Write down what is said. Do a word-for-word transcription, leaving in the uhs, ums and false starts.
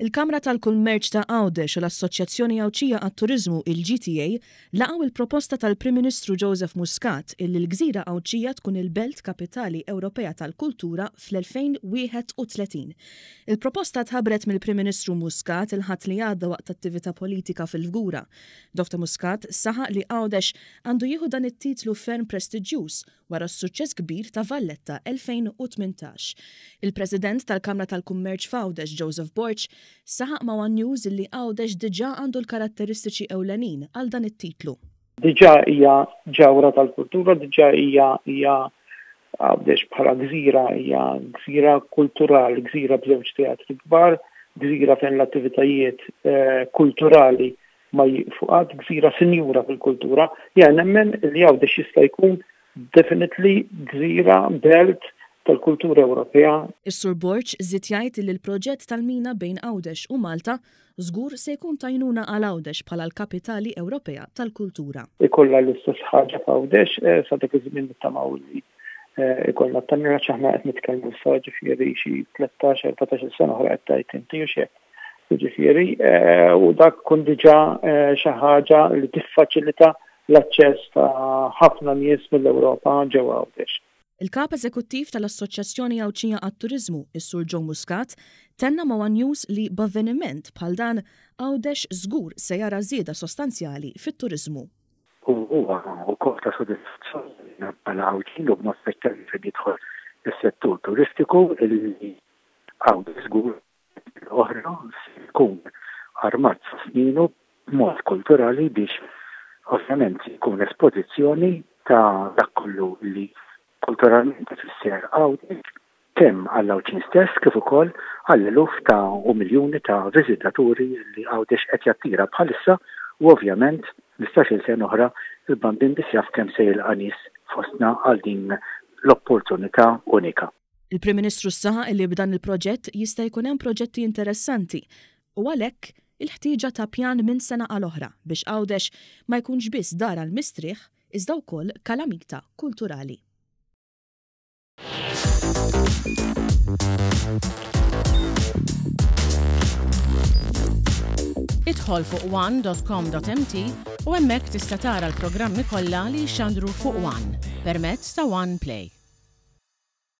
Il-Kamra tal-Kummerċ ta' Għawdex u l-Assoċjazzjoni Għawdxija għat-Turiżmu, il-G T A, laqgħu il-proposta tal-Prim Ministru Joseph Muscat illi l-Gżira Għawdxija tkun il-Belt Kapitali Ewropea tal-Kultura fl-elfejn u wieħed u tletin. Il-proposta tħabbret mill-Prim Ministru Muscat il-Ħadd li għadda waqt attività politika fil-Fgura. Dofta Muscat saħaq li Għawdex għandu jieħu dan it-titlu ferm prestiġjuż wara s-suċċess kbir ta' Valletta elfejn u tmintax. Il-President tal-Kamra tal-Kummerċ f'Għawdex, Joseph Borg, saħaq ma' One News li Għawdex diġà għandu l-karatteristiċi ewlenin għal dan it-titlu. Diġà hija ġawra tal-kultura, diġà hija hija Għawdex bħala gżira hija gżira kulturali, gżira b'żewġ teatri kbar, gżira fejn l-attivitajiet eh, kulturali ma jiqfu qatt, gżira sinjura fil-kultura. Ja nemmen li Għawdex jista' jkun definitely gżira belt tal-kultura Ewropea. Is-Sur Borg żied jgħid li l-proġett tal-mina bejn Għawdex u Malta żgur se jkun t'għajnuna għal Għawdex bħala l-kapitali Ewropea tal-kultura. Ikollha l-istess ħaġa f'Għawdex, eh, sa dak iż-żmien nittamaw li eh, ikollna t-tunnel, aħna qed nitkellmu sa ġifieri xi tlettax erbatax-il sena oħra qed tgħid inti u xejn. Ġifieri, eh, u dak kun diġà xi ħaġa li tiffaċilita l-aċċess ta' ħafna nies mill-Ewropa ġewwa Għawdex. Il-kap eżekuttiv tal-Assoċjazzjoni Għawdxija għat-Turiżmu, is-Sur Joe Muscat, tenna ma' One News li b'avveniment bħal dan Għawdex żgur se jara żieda sostanzjali fit-turiżmu. U huwa wkoll ta' sodisfazzjoni bħala Għawdxin u b'mod speċjali fejn jidħol is-settur turistiku li Għawdex żgur oħra se jkun armat sa sninu b'mod kulturali biex ovvjament jkun espożizzjoni ta' dak kollu li kulturalment ifisser Għawdex, kemm għall-Għawdxin stess kif ukoll għall-eluf ta' u miljuni ta' viżitaturi li Għawdex qed jattira bħalissa, u ovvjament ħmistax-il sena oħra il-Bambin biss jaf kemm se jilqa' nies fostna għal din l-opportunità unika. Il-Prim Ministru saħaq li b'dan il-proġett jista' jkun hemm proġetti interessanti u għalhekk il-ħtieġa ta' pjan minn sena għal oħra biex Għawdex ma jkunx biss dar għal mistrieħ iżda wkoll kalamita kulturali. Idħol fuq one dot com dot M T u hemmhekk tista' tara l-programmi kollha li jxandru fuq One permezz ta' One Play.